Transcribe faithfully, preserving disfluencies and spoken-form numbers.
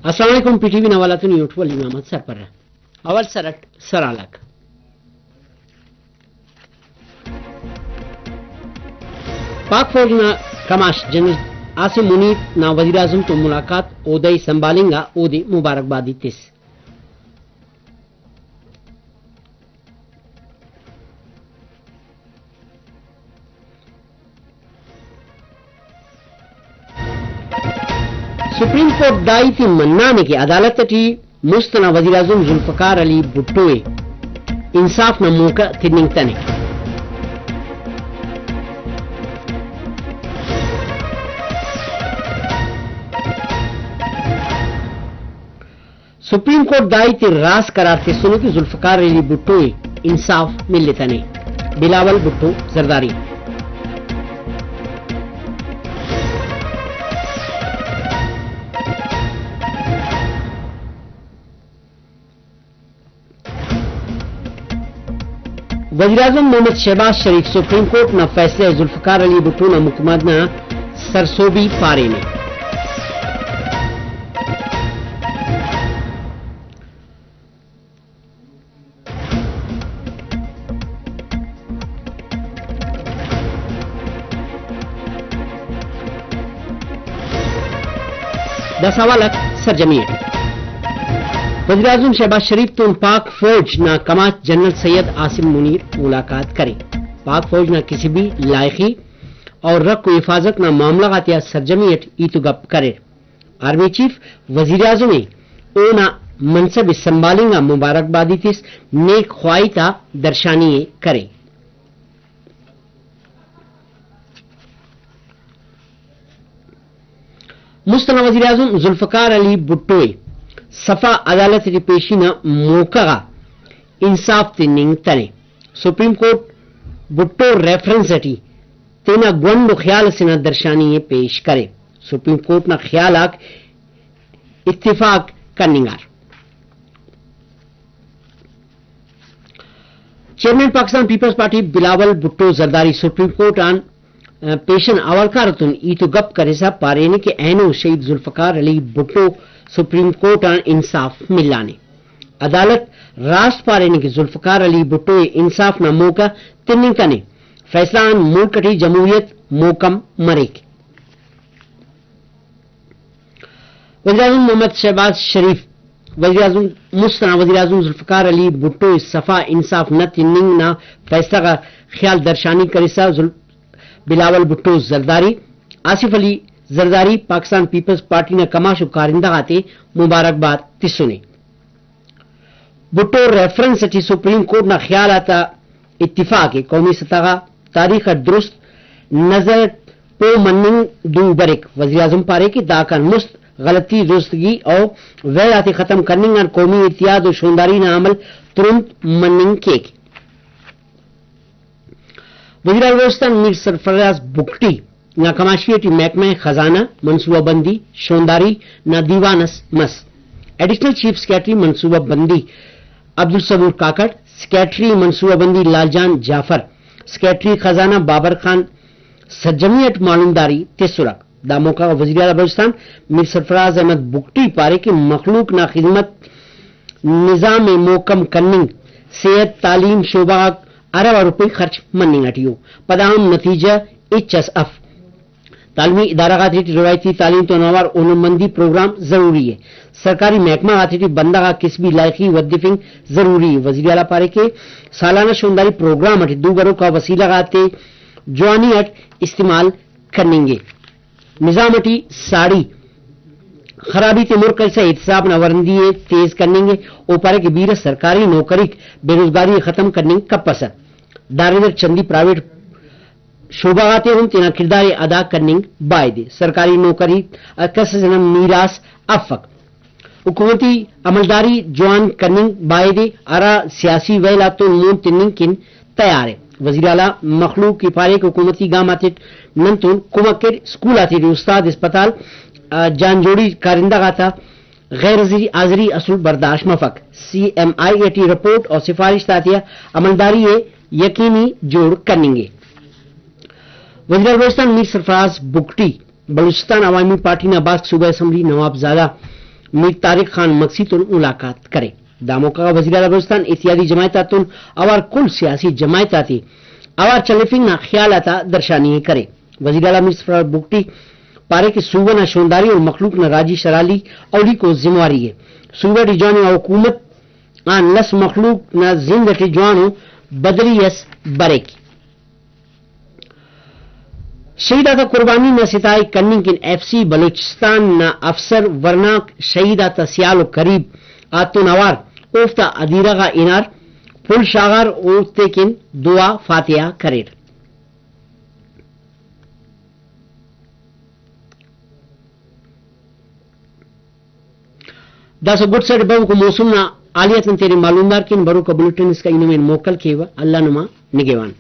السلام علیکم، P T V نا حوالہ تون یوٹیوب علی محمد سرپرہ۔ اول سر اٹ سرحال آک۔ پاک فوج نا کماش جنرل عاصم منیر نا وزیراعظم تون ملاقات، عہدہ ءِ سنبھالنگ آ اودے مبارکبادی تس۔ سپریم کورٹ دا ہیت ءِ منانے کہ عدالت اٹی مست ئنا وزیراعظم ذوالفقار علی بھٹو ءِ انصاف نا موقع تننگتنے۔ سپریم کورٹ دا ہیت ءِ راست قرار تسنے کہ ذوالفقار علی بھٹو ءِ انصاف ملتنے، بلاول بھٹو زرداری۔ وزیراعظم محمد شہباز شریف سپریم کورٹ نا فیصلہ ءِ ذوالفقار علی بھٹو نا مقدمہ نا سرسہبی پارینے۔ دا سوال آک سرجمی اٹ۔ وزیراعظم شہباز شریف تون پاک فوج نا کماش جنرل سید عاصم منیر ملاقات کرے۔ پاک فوج نا کسبی، لائخی اور رکھ و حفاظت نا معاملہ غاتیا سرجمی اٹ ہیت و گپ کریر۔ آرمی چیف وزیراعظم ءِ اونا منصب ءِ سنبھالنگ آ مبارکبادی تس، نیک خواہی تا درشانی ءِ کرے۔ مست ئنا وزیراعظم ذوالفقار علی بھٹو ءِ صفا عدالت اٹی پیشی نا موقع غا انصاف تننگتنے۔ سپریم کورٹ بھٹو ریفرنس اٹی تینا گونڈ و خیال اسے نا درشانی ءِ پیش کرے۔ سپریم کورٹ نا خیال آک اتفاق کننگار۔ چیئرمین پاکستان پیپلز پارٹی بلاول بھٹو زرداری سپریم کورٹ آن، آ، پیشن اوارکار اتون ہیت و گپ کرسا پارینے کہ اینو شہید ذوالفقار علی بھٹو سپریم کورٹ آن انصاف ملانے۔ عدالت راست پارینے کہ ذوالفقار علی بھٹو ءِ انصاف نا موقع تننگ کنے، فیصلہ آن ملک اٹی جمہوریت محکم مریک۔ وزیراعظم محمد شہباز شریف وزیراعظم، مست ئنا وزیراعظم ذوالفقار علی بھٹو ءِ صفا انصاف نہ تننگ نا فیصلہ غا خیال درشانی کرسا ذوال-، بلاول بھٹو زرداری، آصف علی زرداری پاکستان پیپلز پارٹی نا کماش و کارندہ غاتے مبارکباد تسنے۔ بھٹو ریفرنس اٹی سپریم کورٹ نا خیال آتا اتفاق ءِ قومی سطح غا تاریخ اٹ درست نظر اٹ پہہ مننگ دو بریک۔ وزیراعظم پارے کہ داکان مست غلطی، درستگی و ویل آتے ختم کننگ آن قومی اتحاد و شونداری نا عمل ترند مننگ کیک۔ وزیراعلی بلوچستان میر سرفراز بگٹی نا کماشی ٹی محکمہ خزانہ، منصوبہ بندی، شونداری نا دیوان اس مس۔ ایڈیشنل چیف سیکرٹری منصوبہ بندی عبدالصبور کاکڑ، سیکرٹری منصوبہ بندی لال جان جعفر، سیکرٹری خزانہ بابر خان سرجمی اٹ معلومداری تسرہ۔ دا موقع غا وزیراعلی بلوچستان میر سرفراز احمد بگٹی پارے کہ مخلوق نا خذمت نظام ءِ محکم کننگ، صحت، تعلیم شعبہ غاک ارب آ روپئی خرچ مننگ اٹی ءُ، پدا ہم نتیجہ ہچ اس اف۔ تعلیمی ادارہ غاتے ٹی روایتی تعلیم تون اوار ہنرمندی پروگرام ضروری ءِ۔ سرکاری محکمہ غاتے ٹی بندغ آک کسبی لائخی ودفنگ ضروری ءِ۔ وزیراعلیٰ پارے کہ سالانہ شونداری پروگرام اٹی دو بروک آ وسیلہ غاتے جوانی اٹ استعمال کننگے۔ نظام اٹی ساڑی خرابی تے مر کرسا احتساب نا ورندی ءِ تیز کننگے۔ او پارے کہ بیرہ سرکاری نوکریک بے روزگاری ءِ ختم کننگ کپسہ۔ داڑے در چندی پرائیویٹ شعبہ غاتے ہم تینا کڑدار ءِ ادا کننگ بایدے۔ سرکاری نوکری کس ئسے نا میراث افک۔ حکومتی عملداری جوان کننگ بایدے، ہرا سیاسی ویل آتون مون تننگ کن تیار ءِ۔ وزیراعلیٰ مخلوق ءِ پارے کہ حکومتی گام آتیٹ نن تون کمک کیر، اسکول آتیٹی استاد، ہسپتال، آ، جان جوڑی کارندہ غاتا غیر حاضری، حاضری اسل برداشت مفک۔ C M I A T report و سفارش آتیا عملداری ءِ یقینی جوڑ کننگے۔ وزیراعلیٰ بلوچستان میر سرفراز بگٹی بلوچستان عوامی پارٹی نا باسک صوبائی اسمبلی نوابزادہ میر طارق خان مگسی تون ملاقات کرے۔ دا موقع غا وزیراعلی بلوچستان اتحادی جماعت آتون اوار کل سیاسی جماعت آتے اوار چلیفنگ نا خیال آتا درشانی ءِ کرے۔ وزیراعلی میر سرفراز بگٹی پارے کہ صوبہ نا شونداری و مخلوق نا راجی شرحالی اولیکو ذمہ واری ءِ۔ صوبہ ٹی جواننگا حکومت آن لس مخلوق نا زند اٹی جوانو بدلی اس بریک۔ شہید آتا قربانی نا ستائے کننگ کن ایف سی بلوچستان نا افسر ورناک شہید آتا سیال و قریب آتون اوار اوفتا ادیرہ غا ہنار پھل شاغار، اوفتے کن دعا فاتحہ کریر۔ داسہ گڈ سیٹ بوکو موسم نا حالیت آن تینے معلومدار کن بروکا بلیٹن اسکا ای نمے موکل کیوہ۔ اللہ نما نگہوان۔